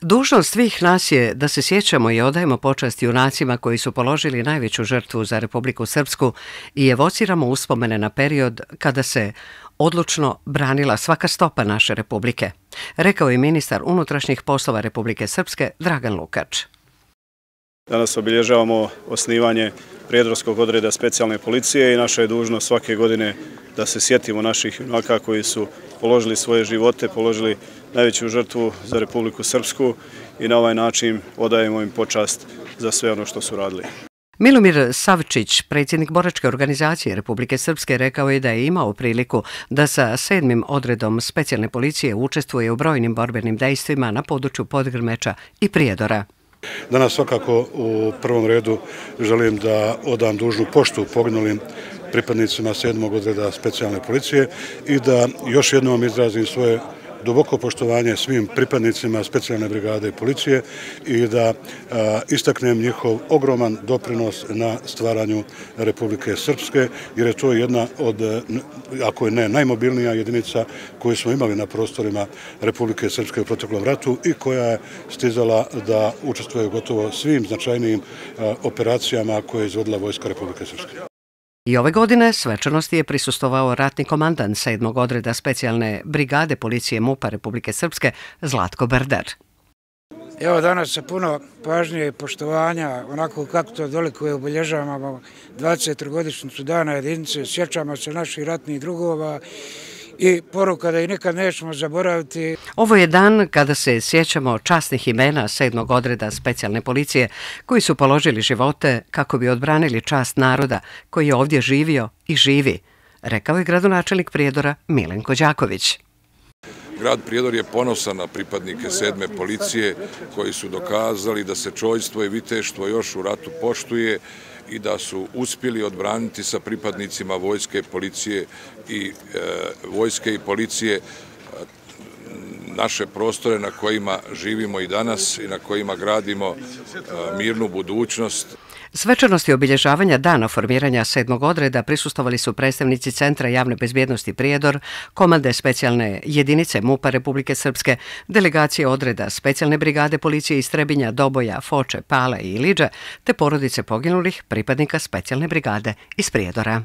Dužnost svih nas je da se sjećamo i odajemo počast junacima koji su položili najveću žrtvu za Republiku Srpsku i evociramo uspomene na period kada se odlučno branila svaka stopa naše republike, rekao je ministar unutrašnjih poslova Republike Srpske Dragan Lukač. Danas obilježavamo osnivanje Prijedorskog odreda specijalne policije i naša je dužnost svake godine da se sjetimo naših junaka koji su položili svoje živote, položili najveću žrtvu za Republiku Srpsku i na ovaj način odajemo im počast za sve ono što su radili. Milomir Savčić, predsjednik boračke organizacije Republike Srpske, rekao je da je imao priliku da sa 7. odredom specijalne policije učestvuje u brojnim borbenim dejstvima na području Podgrmeča i Prijedora. Danas svakako u prvom redu želim da odam dužnu poštu poginulim pripadnicima 7. odreda specijalne policije i da još jednom izrazim svoje duboko poštovanje svim pripadnicima specijalne brigade policije i da istaknem njihov ogroman doprinos na stvaranju Republike Srpske, jer je to jedna od, ako je ne najmobilnija jedinica koju smo imali na prostorima Republike Srpske u proteklom ratu i koja je stizala da učestvuje gotovo svim značajnijim operacijama koje je izvodila Vojska Republike Srpske. I ove godine svečanosti je prisustvovao ratni komandant 7. odreda specijalne brigade policije MUP-a Republike Srpske Zlatko Berder. Evo danas sa puno pažnje i poštovanja, onako kako to dolikuje, obilježavamo 20-godišnjicu dana jedinice, sjećamo se naših ratnih drugova i poruka da ih nikad nećemo zaboraviti. Ovo je dan kada se sjećamo časnih imena 7. odreda specijalne policije koji su položili živote kako bi odbranili čast naroda koji je ovdje živio i živi, rekao je gradonačelnik Prijedora Milenko Đaković. Grad Prijedor je ponosan na pripadnike 7. policije koji su dokazali da se čojstvo i viteštvo još u ratu poštuje i da su uspjeli odbraniti sa pripadnicima vojske i policije naše prostore na kojima živimo i danas i na kojima gradimo mirnu budućnost. Svečanosti obilježavanja dana formiranja 7. odreda prisustvovali su predstavnici Centra javne bezbjednosti Prijedor, komande specijalne jedinice MUP-a Republike Srpske, delegacije odreda specijalne brigade policije iz Trebinja, Doboja, Foče, Pale i Iliđe, te porodice poginulih pripadnika specijalne brigade iz Prijedora.